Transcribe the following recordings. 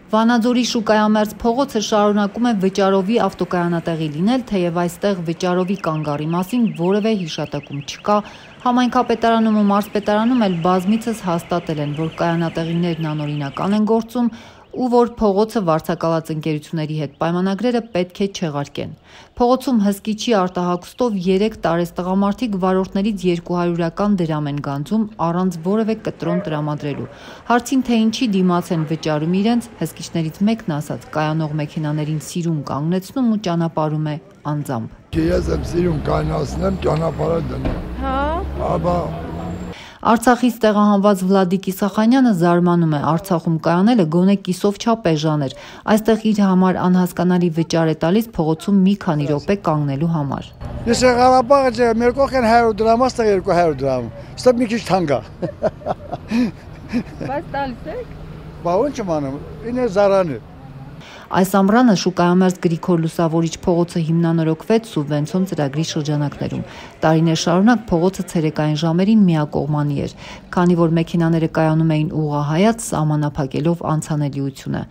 Վանաձորի շուկայամերձ փողոցը շարունակում է վճարովի ավտոկայանատեղի լինել, թեև այստեղ վճարովի կանգառի մասին որևէ հիշատակում չկա, համայնքապետարանում ու մարզպետարանում էլ բազմիցս հաստատել են, որ կայանատեղիներն անօրինական են գործում ու որ փողոցը վարձակալած ընկերությունների հետ պայմանագրերը պետք է չեղարկեն։ Փողոցում հսկիչի արտահագուստով 3 տարեց տղամարդիկ վարորդներից 200-ական դրամ են գանձում առանց որևէ կտրոն տրամադրելու։ Հարցին թե ինչի դիմաց են վճարում իրենց, հսկիչներից մեկն ասաց, կայանող մեքենաներին սիրուն կանգնեցնում ու ճանապարհում է անձամբ։ Ես եմ սիրուն կանգնացնեմ, ճանապարհը դնում։ Հա։ Արցախից տեղահանված Վլադիկ Իսախանյանը զարմանում է, Արցախում կայանելը գոնե կիսով չափ էժան էր, այստեղ իր համար անհասկանալի վճար է տալիս փողոցում մի քանի րոպե կանգնելու համար։ Ես Ղարաբաղը մեր կողքեն 100 դրամ, այստեղ 200 դրամ, ստա մի քիչ թանկ է։ Բայց տալիս եք։ Բա ո՞նց եմ անում, ինը զարան է։ Այս ամռանը շուկայամերձ Գրիգոր Լուսավորիչ փողոցը հիմնանորոգվեց սուբվենցիոն ծրագրի շրջանակներում։ Տարիներ շարունակ փողոցը ցերեկային ժամերին միակողմանի էր, քանի որ մեքենաները կայանում էին ուղղահայաց, սահմանափակելով անցանելիությունը։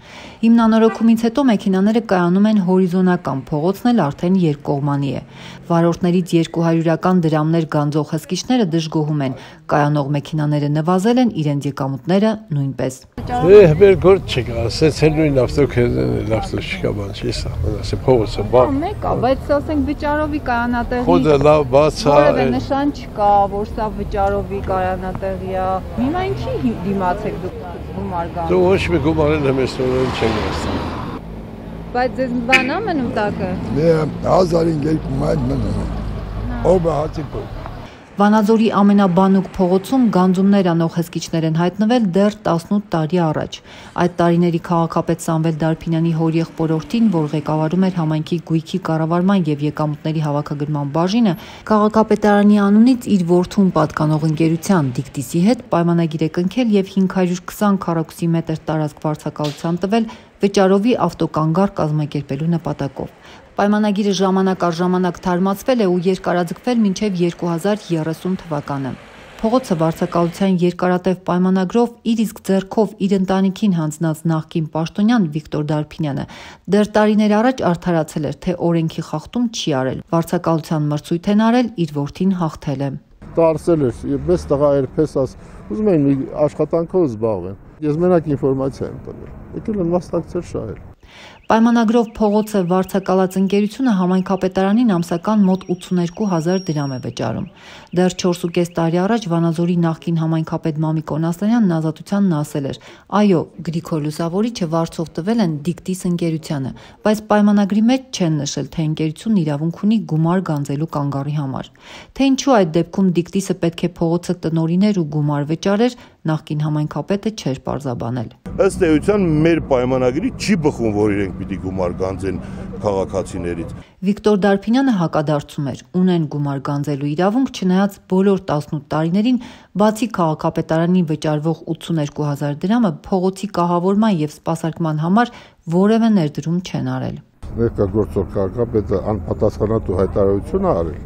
Հիմնանորոգումից հետո մեքենաները կայանում են հորիզոնական, փողոցն էլ արդեն երկկողմանի է։ Վարորդներից 200-ական դրամներ գանձող հսկիչները դժգոհում են, կայանող մեքենաները նվազել են, իրենց եկամուտները նույնպես։ Մեր գործ չկա, ասեցել նույն ավտոքեզը չկա բան չի սա, ասե փողոցը բան։ Մեկ է, բայց ասենք վճարովի կայանատեղի։ Խոդը լավ բաց է։ Որևէ նշան չկա, որ սա վճարովի կայանատեղի է։ Հիմա ինչի դիմաց եք դուք գումար գանում։ Դու ոչ մի գումարել եմ ես նորեն չեմ գաստում։ Բայց ձեզ բան է մնում տակը։ Դե 1200 մայր մնում։ Ո՞վ է հացիպը։ Վանաձորի ամենաբանուկ փողոցում գանձումներ անող հսկիչներ են հայտնվել դեռ 18 տարի առաջ։ Այդ տարիների քաղաքապետ Սամվել Դարփինյանի հորեղբորորդին, որ ղեկավարում էր համայնքի գույքի կառավարման եւ եկամուտների հավաքագրման բաժինը, քաղաքապետարանի անունից իր որդուն պատկանող ընկերության Դիկտիսի հետ պայմանագիր է կնքել եւ 520 քառակուսի մետր տարածք վարձակալության տվել վճարովի ավտոկանգառ կազմակերպելու նպատակով։ Պայմանագիրը ժամանակ առ ժամանակ թարմացվել է ու երկարաձգվել մինչև 2030 թվականը։ Փողոցը վարձակալության երկարատև պայմանագրով իր իսկ ձեռքով իր ընտանիքին հանձնած նախկին պաշտոնյան Վիկտոր Դարփինյանը դեռ տարիներ առաջ արդարացել էր, թե օրենքի խախտում չի արել։ Վարձակալության մրցույթ են արել, իր որդին հաղթել է։ Տարսել էր, մեծ տղա էր պես ուզում էին մի աշխատանքով զբաղվեն։ Ես մենակ ինֆորմացիա եմ տվել։ Եկել են մասնակցել շահել։ Պայմանագրով փողոցը վարձակալած ընկերությունը համայնքապետարանին ամսական մոտ 82,000 դրամ է վճարում։ Դեռ 4.5 տարի առաջ Վանաձորի նախկին համայնքապետ Մամիկ Օնասյանն ազատությանն ասել էր. այո, Գրիգոր Լուսավորիչը վարձով տվել են Դիկտիս ընկերությանը, բայց պայմանագրի մեջ չեն նշել, թե ընկերությունն իրավունք ունի գումար գանձելու կանգառի համար։ Թե ինչու այդ դեպքում Դիկտիսը պետք է փողոցը տնօրիներ ու գումար վճարեր, նախկին համայնքապետը չէր պարզաբանել։ Ըստ էության մեր պայմանագրի չի բխում, որ իրենք պիտի գումար գանձեն քաղաքացիներից։ Վիկտոր Դարփինյանը հակադարձում էր, ունեն գումար գանձելու իրավունք, չնայած բոլոր 18 տարիներին, բացի քաղաքապետարանին վճարվող 82,000 դրամը փողոցի կահավորման եւ սպասարկման համար որևէ ներդրում չեն արել։ Ներկայացող քաղաքապետը անպատասխանատու հայտարարություն է արել։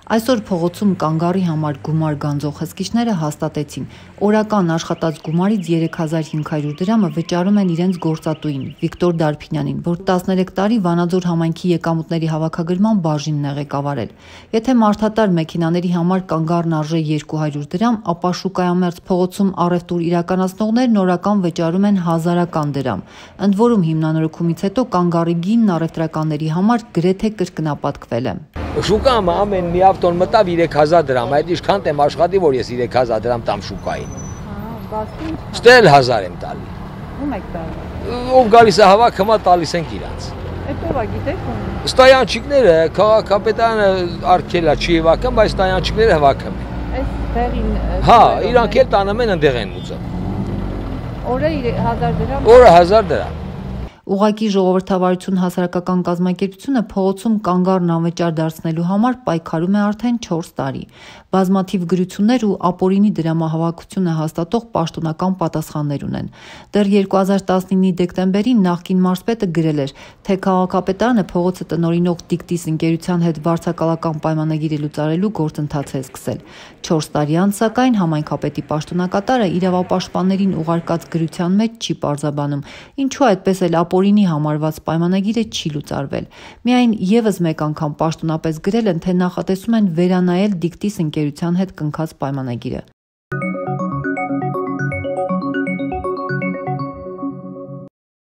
Այսօր փողոցում կանգառի համար գումար գանձող հսկիչները հաստատեցին։ Օրական աշխատած գումարից 3500 դրամը վճարում են իրենց գործատուին Վիկտոր Դարփինյանին, որ 13 տարի Վանաձոր համայնքի եկամուտների հավաքագրման բաժինն է ղեկավարել։ Եթե մարդատար մեքենաների համար կանգառն արժե 200 դրամ, ապա շուկայամերձ փողոցում առևտուր իրականացնողներն օրական վճարում են 1000-ական դրամ։ Ընդ որում հիմնանորոգումից հետո կանգառի գինն առևտրականների համար գրեթե կրկնապատկվել է։ Շուկայում ամեն մի ավտոն մտավ 3000 դրամ, այդ ինչքան եմ աշխատի, որ ես 3000 դրամ տամ շուկային։ Ստել 1000 եմ տալի։ Ում եք տալի։ Ով գալիս է հավաք, հիմա տալիս ենք իրանց։ Այդ ով է, գիտեք ում։ Ստայանչիկները քաղաքապետարանը արգելա չի հավաքում, բայց ստայանչիկները հավաքում են։ Այս տեղին։ Հա, իրանք էլ տանում են ընդեղ են ուզում։ Օրը 1000 դրամ։ Օրը 1000 դրամ։ Ուղղակի ժողովրդավարություն հասարակական կազմակերպությունը փողոցում կանգառն անվճար դարձնելու համար պայքարում է արդեն 4 տարի։ Բազմաթիվ գրություններ ու ապօրինի դրամահավաքությունը հաստատող պաշտոնական պատասխաններ ունեն։ Դեռ 2019-ի դեկտեմբերին նախկին մարզպետը գրել էր, թե քաղաքապետարանը փողոցը տնօրինող Դիկտիս ընկերության հետ վարձակալական պայմանագիր լուծարելու գործընթաց է սկսել։ 4 տարի անց, սակայն, համայնքապետի պաշտոնակատարը իրավապաշտպաններին ուղարկած գրության մեջ չի պարզաբանում, ինչու այդպես էլ ապօրինի համարված պայմանագիրը չի լուծարվել։ Միայն եւս մեկ անգամ պաշտոնապես գրել են, թե նախատեսում են վերանայել Դիկտիս ընկերության հետ կնքած պայմանագիրը։